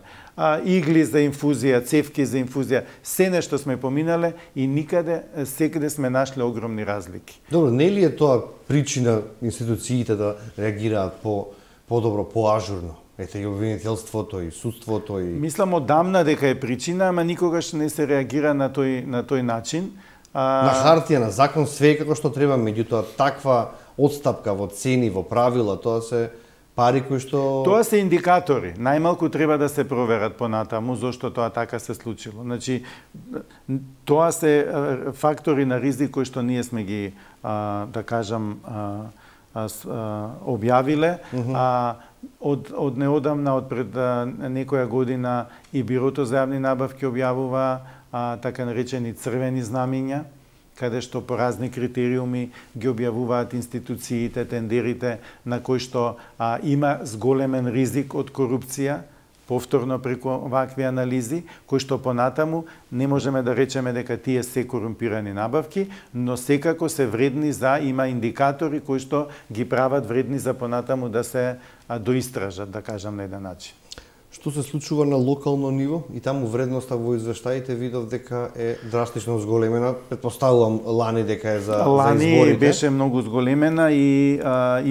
Игли за инфузија, цевки за инфузија, се нешто сме поминале и никаде, секаде сме нашле огромни разлики.
Добро, не ли е тоа причина институциите да реагираат подобро, поажурно? Ете и обвинителството, и судството, и...
Мислам одамна дека е причина, ама никогаш не се реагира на тој начин.
На хартија, на закон, све како што треба, меѓутоа таква одстапка во цени, во правила, тоа се пари кои што...
Тоа се индикатори. Најмалку треба да се проверат понатаму зошто тоа така се случило. Значи, тоа се фактори на ризик кои што ние сме ги, да кажам, објавиле. Од неодамна, од пред некоја година и Бирото за јавни набавки објавува така наречени црвени знамиња, каде што по разни критериуми ги објавуваат институциите, тендерите, на кои што има зголемен ризик од корупција, повторно преку вакви анализи, кои што понатаму не можеме да речеме дека тие се корумпирани набавки, но секако се вредни за, има индикатори кои што ги прават вредни за понатаму да се доистражат, да кажам на еден начин.
Што се случува на локално ниво и таму вредноста во извештаите видов дека е драстично зголемена, претпоставувам лани дека е за изборите.
Лани беше многу зголемена и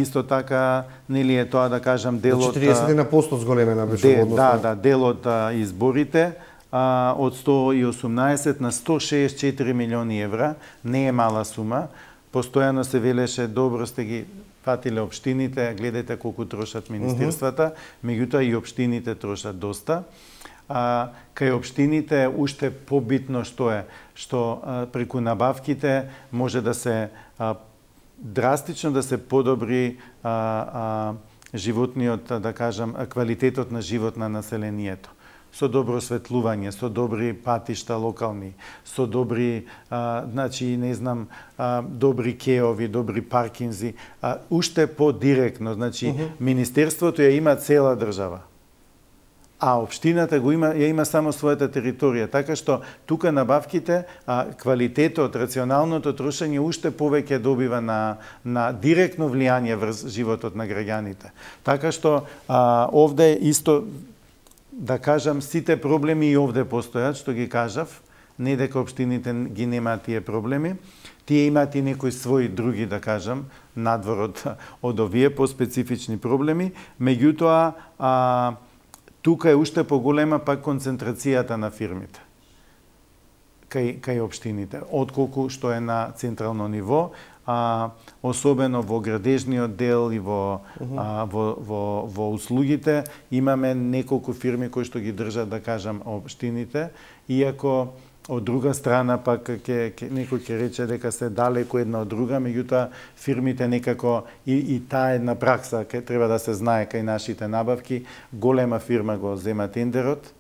исто така нели е тоа да кажам дел од
40% зголемена беше во однос.
Да, дел од изборите од 118 на 164 милиони евра, не е мала сума. Постојано се велеше добро сте ги фатиле општините, гледате колку трошат министерствата, меѓутоа и општините трошат доста. Кај општините уште побитно што е, што преку набавките може да се драстично да се подобри животниот, да кажам, квалитетот на живот на населението. Со добро осветлување, со добри патишта локални, со добри, значи, не знам, добри кеови, добри паркинзи, уште по-директно, значи, Министерството ја има цела држава, а општината ја има само својата територија, така што тука набавките, квалитетот, рационалното трошење уште повеќе добива на директно влијание врз животот на граѓаните. Така што овде исто, да кажам, сите проблеми и овде постојат, што ги кажав, не дека општините ги немаат тие проблеми, тие имаат и некои своји други, да кажам, надвор од овие поспецифични проблеми, меѓутоа тука е уште поголема пак концентрацијата на фирмите кај општините, отколку што е на централно ниво, особено во градежниот дел и во услугите имаме неколку фирми кои што ги држат, да кажам, општините, иако од друга страна пак некој ќе рече дека се далеку една од друга, меѓутоа фирмите некако и таа една пракса треба да се знае кај нашите набавки, голема фирма го зема тендерот,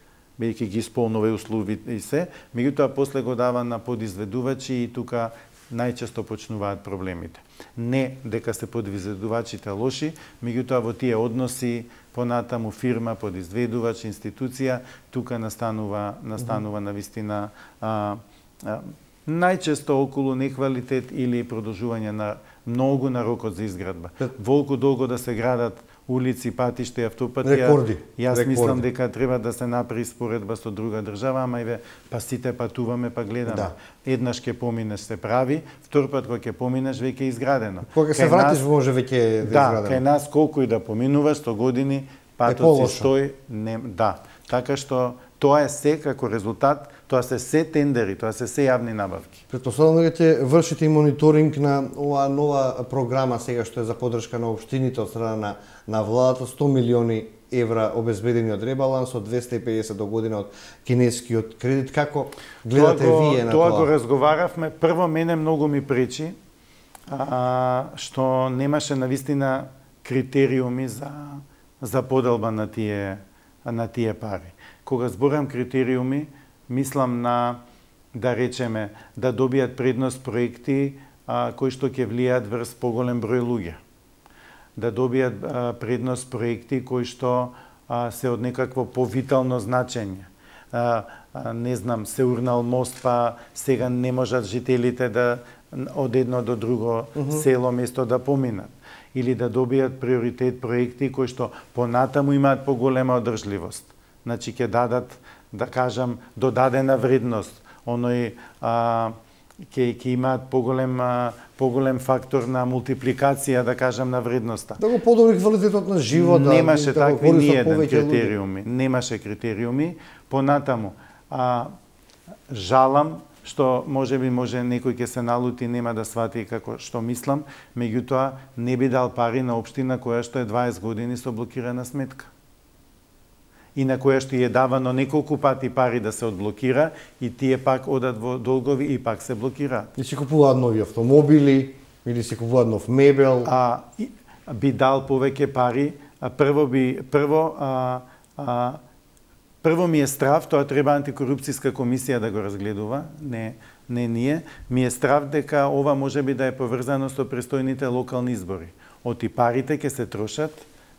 бидејќи ги исполнува и услови и се, меѓутоа после го дава на подизведувачи и тука најчесто почнуваат проблемите. Не дека се подизведувачите лоши, меѓутоа во тие односи понатаму фирма, подизведувач, институција, тука настанува навистина најчесто околу неквалитет или продолжување на многу на рокот за изградба. Волку долго да се градат улици, патишта и автопатија.
Рекорди.
Јас мислам дека треба да се направи споредба со друга држава, ама еве па сите патуваме, па гледаме. Да. Еднаш ќе поминеш се прави, втор пат кога ќе поминеш веќе е изградено.
Кога се вратиш може веќе е изградено.
Да, кај нас колку и да поминуваш 100 години, патот си стои, да. Така што тоа е се како резултат, тоа се тендери, тоа се јавни набавки.
Претпоставувам дека ќе вршите и мониторинг на оваа нова програма сега што е за поддршка на општините од страна на владата, 100 милиони евра обезбедени од ребаланс, од 250 до година од кинескиот кредит. Како гледате вие на тоа?
Тоа го разговаравме. Прво, мене многу ми пречи што немаше навистина критериуми за поделба на тие пари. Кога зборам критериуми, мислам на, да речеме, да добијат предност проекти кои што ќе влијаат врз поголем број луѓе. Да добијат предност проекти кои што се од некакво повитално значење. Не знам, се урнал мост, па сега не можат жителите да од едно до друго село место да поминат. или да добијат приоритет проекти кои што понатаму имаат поголема одржливост. Значи ќе дадат, да кажам, додадена вредност, оној ќе имаат поголем фактор на мултипликација, да кажам, на вредноста.
Да го подобри квалитетот на живот,
немаше
да
такви
го
ниеден критериуми. Немаше критериуми. Понатаму, жалам што може некој ќе се налути, нема да свати како што мислам, меѓутоа не би дал пари на општина која што е 20 години со блокирана сметка. И на која што е давано неколку пати пари да се одблокира и тие пак одат во долгови и пак се блокираат.
И си купуваат нови автомобили или си купуваат нов мебел.
Би дал повеќе пари. Прво ми е страв, тоа треба антикорупцијска комисија да го разгледува, не ние. Ми е страв дека ова може би да е поврзано со престојните локални избори. Оти парите ќе се трошат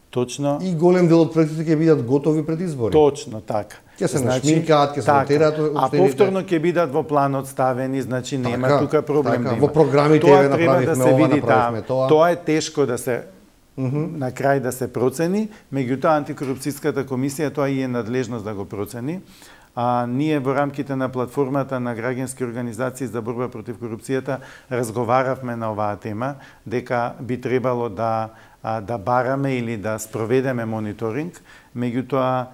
точно.
И голем дел од проектите ќе бидат готови пред избори.
Точно така.
Ќе се нашминкаат, ќе се монтираат општините.
А повторно ќе бидат во планот ставени, значи нема тука проблем да има.
Во програмите
тоа
направивме
да се
ова,
види
направивме тоа.
Тоа е тешко да се на крај да се процени, меѓутоа антикорупцијската комисија тоа и е надлежност да го процени. Ние во рамките на платформата на граѓански организации за борба против корупцијата разговаравме на оваа тема, дека би требало да бараме или да спроведеме мониторинг, меѓутоа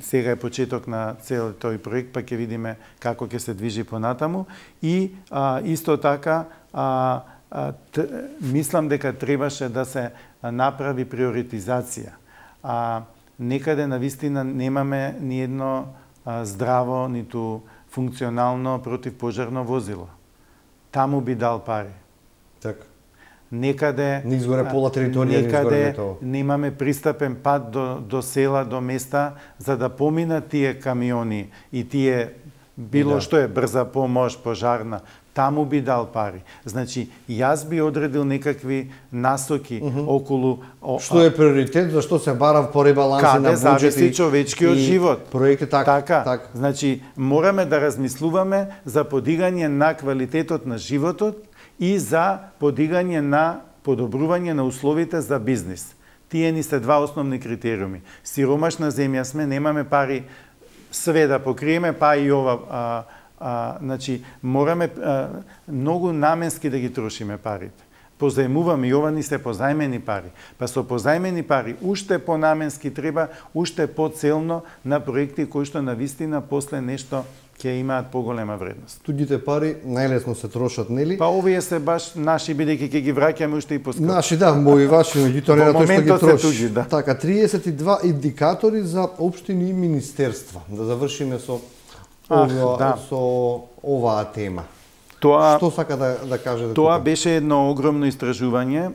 сега е почеток на цел тој проект, па ќе видиме како ќе се движи понатаму и исто така мислам дека требаше да се направи приоритизација. Некаде навистина немаме ни едно здраво, ниту функционално противпожарно возило. Таму би дал пари.
Така.
Некаде
не изгоре пола територија,
некаде немаме пристапен пат до села, до места, за да поминат тие камиони и тие било што е брза помош, пожарна. Таму би дал пари. Значи, јас би одредил некакви насоки околу...
Што е приоритет, зашто се бара по ребаланси на буџет и...
Каде зависи човечкиот живот.
Проекти така.
Значи, мораме да размислуваме за подигање на квалитетот на животот и за подигање на подобрување на условите за бизнис. Тие ни се два основни критериуми. Сиромашна земја сме, немаме пари све да покриеме, па и ова... значи, мораме многу наменски да ги трошиме парите. Позајмуваме и ова ни се позајмени пари. Па со позајмени пари уште понаменски треба, уште поцелно на проекти кои што навистина после нешто ќе имаат поголема вредност.
Туѓите пари најлесно се трошат, нели?
Па овие се баш наши, бидејќи ќе ги враќаме уште и поскапо.
Наши, мои ваши, меѓутоа не тоа што ги троши.
Туѓи, да.
Така, 32 индикатори за општини и министерства. Да завршиме со оваа тема. Што сака да кажете?
Тоа беше едно огромно истражување.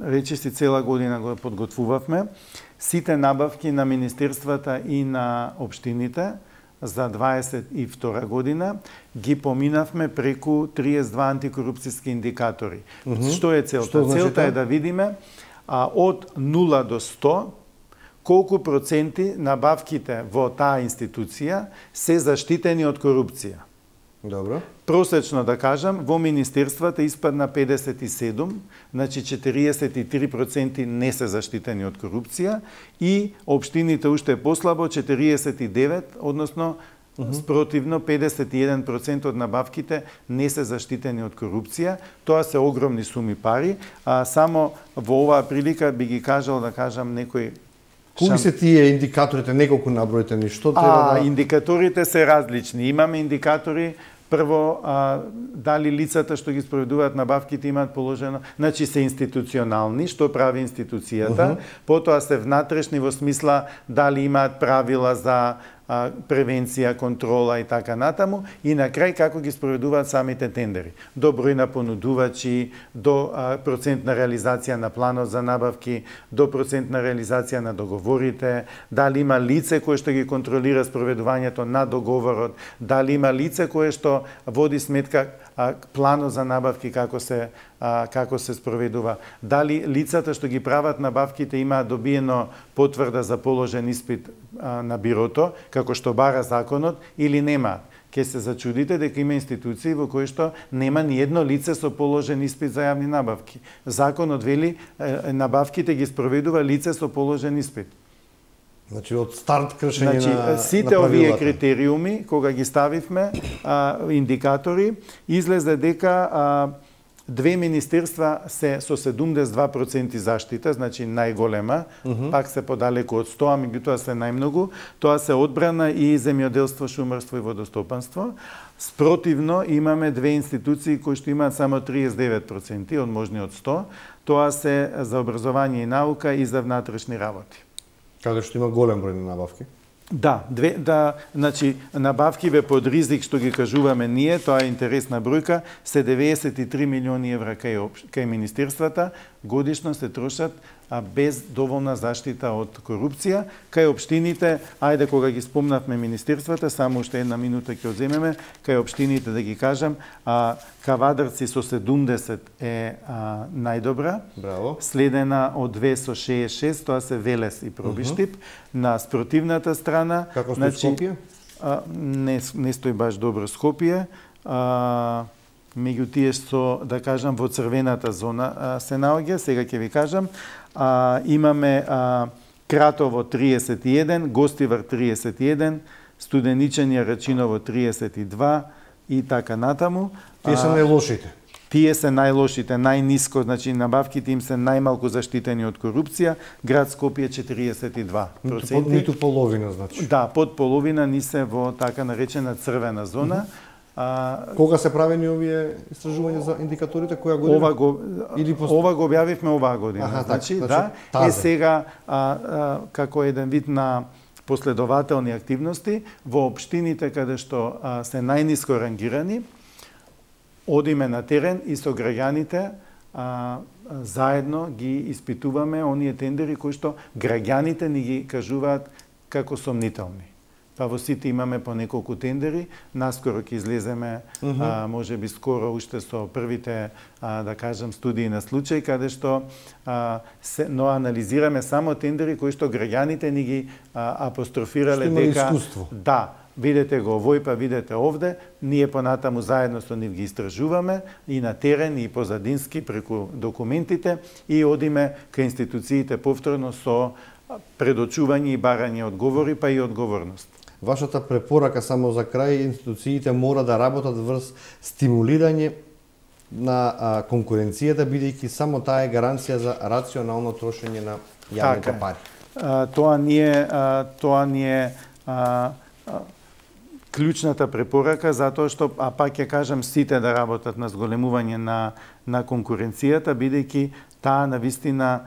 Речиси цела година го подготвувавме. Сите набавки на министерствата и на општините за 22 година ги поминавме преку 32 антикорупцијски индикатори. Што е целта? Целта е да видиме од 0 до 100 колку проценти набавките во таа институција се заштитени од корупција.
Добро.
Просечно да кажам, во министерствата испадна 57, значи 43% не се заштитени од корупција и општините уште послабо 49, односно спротивно 51% од набавките не се заштитени од корупција. Тоа се огромни суми пари. Само во оваа прилика би ги кажал, да кажам, некој...
Кои се тие индикаторите, неколку набројтени, што треба да...
Индикаторите се различни. Имаме индикатори, прво, дали лицата што ги спроведуваат набавките имаат положено, значи се институционални, што прави институцијата, потоа се внатрешни во смисла дали имаат правила за превенција, контрола и така натаму, и на крај како ги спроведуваат самите тендери. До број на понудувачи, до процент на реализација на планот за набавки, до процент на реализација на договорите, дали има лице кое што ги контролира спроведувањето на договорот, дали има лице кое што води сметка планот за набавки како се спроведува, дали лицата што ги прават набавките имаат добиено потврда за положен испит на бирото, како што бара законот, или нема. ќе се зачудите дека има институции во кои што нема ни едно лице со положен испит за јавни набавки. Законот вели набавките ги спроведува лице со положен испит.
Значи од старт кршење на
сите овие критериуми кога ги ставивме индикатори, излезе дека две министерства се со 72% заштита, значи најголема, пак се подалеку од 100, меѓутоа се најмногу. Тоа се одбрана и земјоделство, шумарство и водостопанство. Спротивно имаме две институции кои што имаат само 39% од можни од 100. Тоа се за образование и наука и за внатрешни работи.
Каде што има голем број на набавки?
Значи, набавкиве под ризик, што ги кажуваме ние, тоа е интересна бројка, се 93 милиони евра кај министерствата, годишно се трошат без доволна заштита од корупција. Кај општините, ајде кога ги спомнавме министерствата, само уште една минута ќе одземеме, кај општините да ги кажам, Кавадарци со 70 е најдобра,
Браво.
Следена од 2 со 66, тоа се Велес и Пробиштип. На спротивната страна,
како стои Скопје?
Не стои баш добро Скопје. Меѓу тие што, да кажам, во црвената зона се наоѓа, сега ќе ви кажам. Имаме Кратово 31, Гостивар 31, Студеничани Рачиново 32 и така натаму.
Тие се најлошите.
Тие се најлошите, најниско, значи набавките им се најмалку заштитени од корупција. Град Скопје 42%.
Ниту половина, значи.
Да, под половина ни се во така наречена црвена зона.
Кога се правени овие истражувања за индикаторите, која година?
Ова го објавивме оваа година. Значи, да, сега како еден вид на последователни активности во општините каде што се најниско рангирани, одиме на терен и со граѓаните заедно ги испитуваме оние тендери кои што граѓаните ни ги кажуваат како сомнителни. Па во сите имаме по неколку тендери, наскоро ќе излеземе, може би скоро уште со првите, да кажам, студии на случај, каде што но анализираме само тендери кои што граѓаните ни ги апострофирале дека да, видете го овој, па видете овде, ние понатаму заедно со нив ги истражуваме и на терен и позадински преку документите и одиме кај институциите повторно со предочување и барање одговори, па и одговорност.
Вашата препорака само за крај, институциите мора да работат врз стимулирање на конкуренцијата, бидејќи само таа е гаранција за рационално трошење на јавните пари.
Тоа ни е клучната препорака, затоа што, пак ќе кажам, сите да работат на зголемување на конкуренцијата, бидејќи таа навистина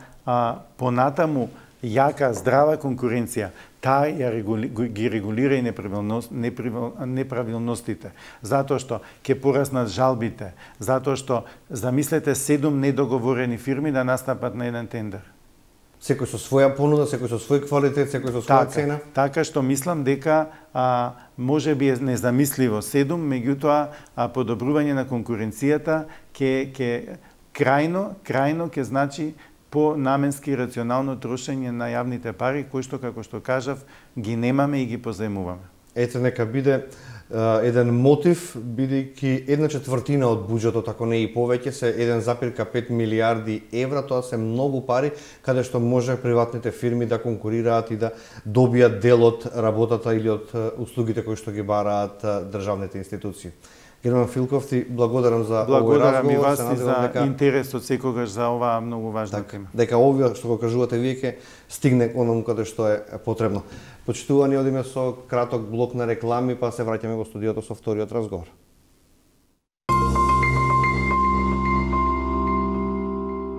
понатаму јака, здрава конкуренција, таа ги регулира и неправилностите. Затоа што ќе пораснат жалбите, затоа што, замислете, 7 недоговорени фирми да настапат на еден тендер.
Секој со своја понуда, секој со свој квалитет, секој со своја цена?
Така што мислам дека може би е незамисливо 7, меѓутоа подобрување на конкуренцијата ќе крајно ќе значи по наменски рационално трошење на јавните пари, кои што, како што кажав, ги немаме и ги позаемуваме.
Ете, нека биде еден мотив, бидејќи 1/4 од буџетот, ако не и повеќе, се 1,5 милиарди евра, тоа се многу пари, каде што може приватните фирми да конкурираат и да добијат дел од работата или од услугите кои што ги бараат државните институции. Герман Филков, ти благодарам за овој разговор.
Благодарам и вас и за интересот секогаш за оваа многу важна тема.
Дека овие што го кажувате вие ќе стигне онаму каде што е потребно. Почитувани, одиме со краток блок на реклами, па се враќаме во студиото со вториот разговор.